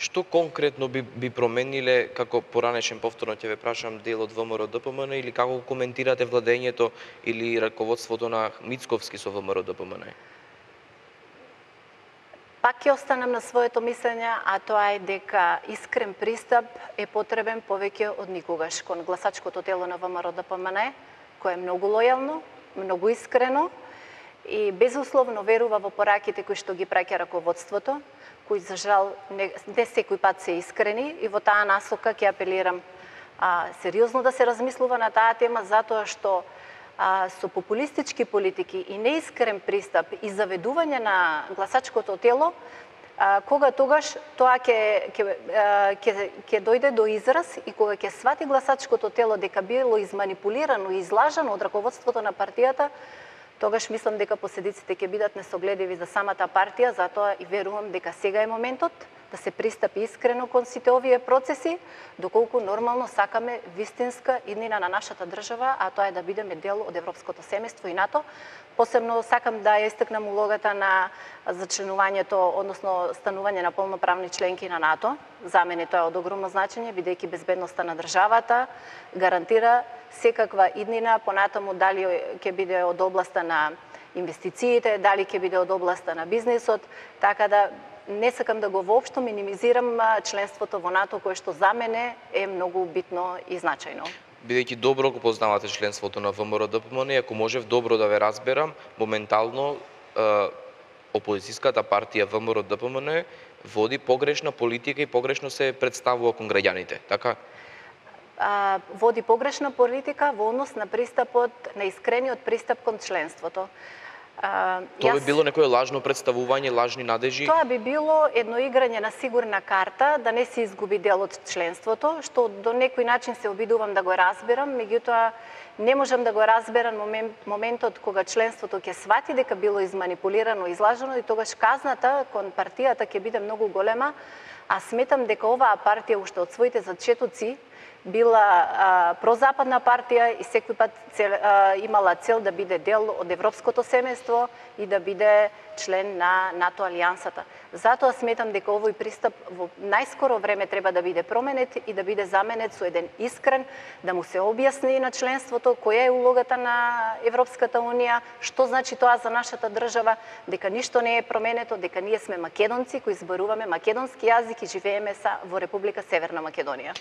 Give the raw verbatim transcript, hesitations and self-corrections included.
Што конкретно би, би промениле, како поранешен повторно ќе ве прашам, дел од ВМРО-ДПМН или како коментирате владењето или раководството на Мицковски со ВМРО-ДПМН? Пак ќе останам на своето мислење, а тоа е дека искрен пристап е потребен повеќе од никогаш кон гласачкото тело на ВМРО-ДПМН, кое е многу лојално, многу искрено и безусловно верува во пораките кои што ги праќа раководството, кои за жал не, не секој пат се искрени, и во таа насока ќе апелирам а, сериозно да се размислува на таа тема, затоа што а, со популистички политики и неискрен пристап и заведување на гласачкото тело, а, кога тогаш тоа ќе ќе ќе ќе дојде до израз и кога ќе свати гласачкото тело дека било изманипулирано и излажано од раководството на партијата, тогаш мислам дека последиците ќе бидат несогледиви за самата партија, затоа и верувам дека сега е моментот да се пристапи искрено кон сите овие процеси, доколку нормално сакаме вистинска иднина на нашата држава, а тоа е да бидеме дел од европското семејство и НАТО. Посебно сакам да ја истакнам улогата на зачленувањето, односно станување на полноправни членки на НАТО. За мене тоа е од огромно значење, бидејќи безбедноста на државата гарантира секаква иднина, понатаму дали ќе биде од областа на инвестициите, дали ќе биде од областа на бизнисот, така да не сакам да го воопшто минимизирам членството во НАТО, кое што за мене е многу битно и значајно. Бидејќи добро го познавате членството на ВМРО-ДПМН, ако можев добро да ве разберам, моментално е, опозицијската партија ВМРО-ДПМН води погрешна политика и погрешно се представува кон граѓаните, така? А, води погрешна политика во однос на пристапот, на искрениот пристап кон членството. А, Тоа би јас... било некое лажно представување, лажни надежи? Тоа би било едно играње на сигурна карта, да не се изгуби дел од членството, што до некој начин се обидувам да го разберам, меѓутоа не можам да го разберам момент, моментот кога членството ќе свати дека било изманипулирано, излажено, и тогаш казната кон партијата ќе биде многу голема, а сметам дека оваа партија уште од своите зачетоци била а, прозападна партија и секој пат цел, а, имала цел да биде дел од европското семејство и да биде член на НАТО алијансата. Затоа сметам дека овој пристап во најскоро време треба да биде променет и да биде заменет со еден искрен, да му се објасни на членството која е улогата на Европската унија, што значи тоа за нашата држава, дека ништо не е променето, дека ние сме македонци кои зборуваме македонски јазик и живееме са во Република Северна Македонија.